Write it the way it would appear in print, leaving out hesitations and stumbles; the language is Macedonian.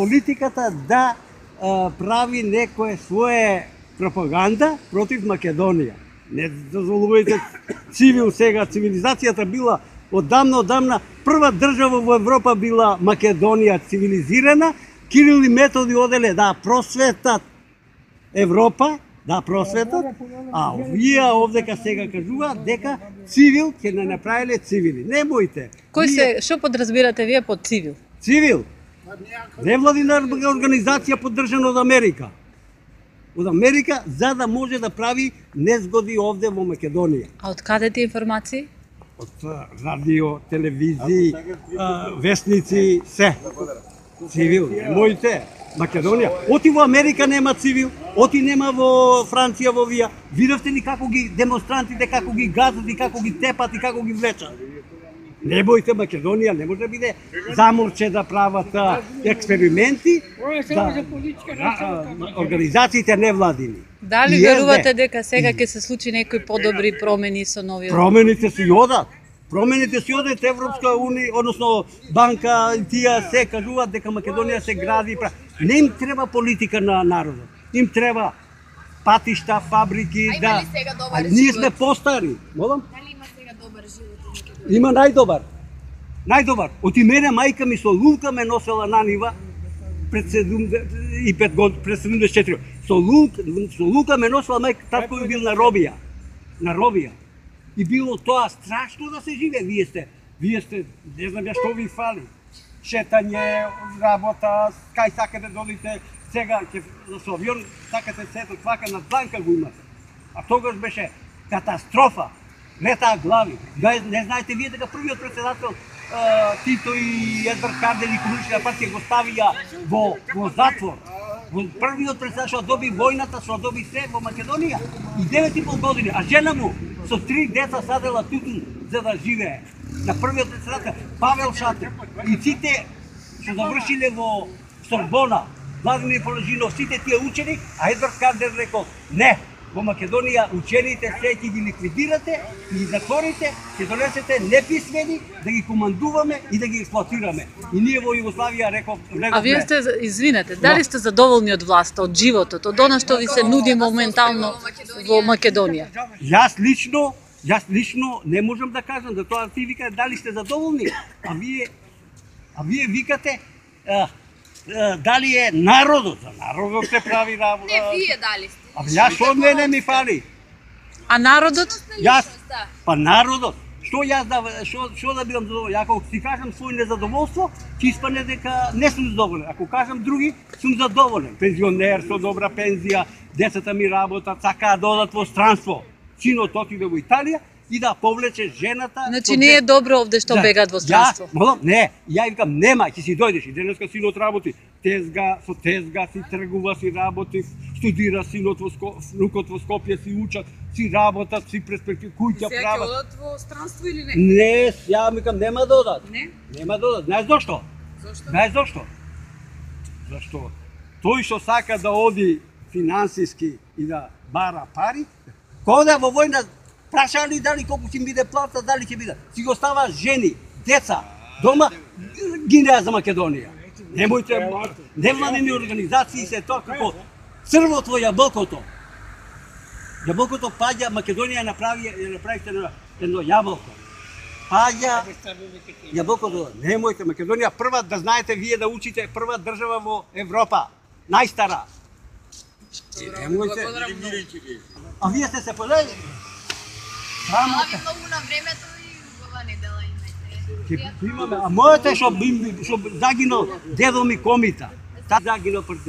Политиката да прави некое свое пропаганда против Македонија. Не дозволувајте цивил сега. Цивилизацијата била одамна. Прва држава во Европа била Македонија, цивилизирана. Кирил и Методи оделе да просветат Европа, а овие овдека сега кажуваат дека цивил ќе не направиле цивили. Не бојте. Што подразбирате вие под цивил? Цивил? Невладина организација поддржана од Америка. Од Америка за да може да прави незгоди овде во Македонија. А од каде ти информации? Од радио, телевизии, вестници, се. Цивил, немојте. Македонија. Оти во Америка нема цивил, оти нема во Франција, во вија. Видовте ли како ги демонстрантите, како ги газат и како ги тепат и како ги влечат? Не бојте, Македонија не може да биде заморче да прават експерименти, организациите невладини. Дали верувате дека сега ќе се случи некои подобри промени со новиот? Промените си одат. Промените си одат Европска унија, односно банка, тие се кажуваат дека Македонија се гради. Не им треба политика на народот. Им треба патишта, фабрики, да. А ние сме постари. Молам? Дали има сега добар живот? Има најдобар. Оти мене мајка ми со лунка ме носела на нива пред 75 години, пред 74. Со лунка ме носела мајка, татко ми бил на робија. И било тоа страшно да се живе. Вие сте, не знам ја што ви фали. Шетање, работа, кај сакате да додите, сега со авион сакате сето твака на дланка го имате. А тогаш беше катастрофа. Летаа глави. Не знаете вие дека првиот председател Тито и Едвард Кардели Комунистична партија го ставија во затвор. Првиот председател доби војната, доби се во Македонија и 9,5 години, а жена му со 3 деца садела тутун за да живее. На првиот председател Павел Шатер и сите што завршиле во Сорбона, Владимир Полежинов, сите тие учени, а Едвард Кардер рекол не. Во Македонија учените се ќе ги ликвидирате и ги затворите, ќе донесете неписмени да ги командуваме и да ги експлоатираме. И ние во Југославија реков влеговме. А вие сте, извинете, дали сте задоволни од власта, од животот, од она што ви се нуди моментално во Македонија? Јас лично не можам да кажам за тоа. Ти викате дали сте задоволни, а вие викате дали е народот. За народот се прави работа. Не, вие дали сте. А јас што мене ми фали? А народот? Народот. Што да бидам задоволен? Ако си кажам свој незадоволство, ќе испадне дека не сум задоволен. Ако кажам други, сум задоволен. Пензионер со добра пензија, децата ми работат, сакаат да одат во странство. Синот отиде во Италија и да повлече жената. Значи не е добро овде што бегаат во странство. Не, ја викам нема, ќе си дојдеш и денеска синот работи. Со тезга си тргува, си работи, студира синот внукот во Скопје, си учат, си работат, си перспективи, куќа прават. Се ќе одат во странство или не? Не, ја викам нема да одат. Не? Нема да одат. Знаеш зошто? Знаеш зошто? Зашто тој што сака да оди финансиски и да бара пари, кога во војна праша ли дали колку ќе биде плата, дали ќе биде. Си го става жени, деца, дома, гинеа за Македонија. Немојте, невладини организации се тоа како црвот во јаболкото. Јаболкото паѓа, Македонија направите едно јаболко. Паѓа јаболкото. Немојте, Македонија прва, да знаете вие да учите, прва држава во Европа. Најстара. Немојте. А вие сте се подели? Слави многу на времето и убава недела имате. Имаме, а мојата што загинал дедо ми Комита. Та загинал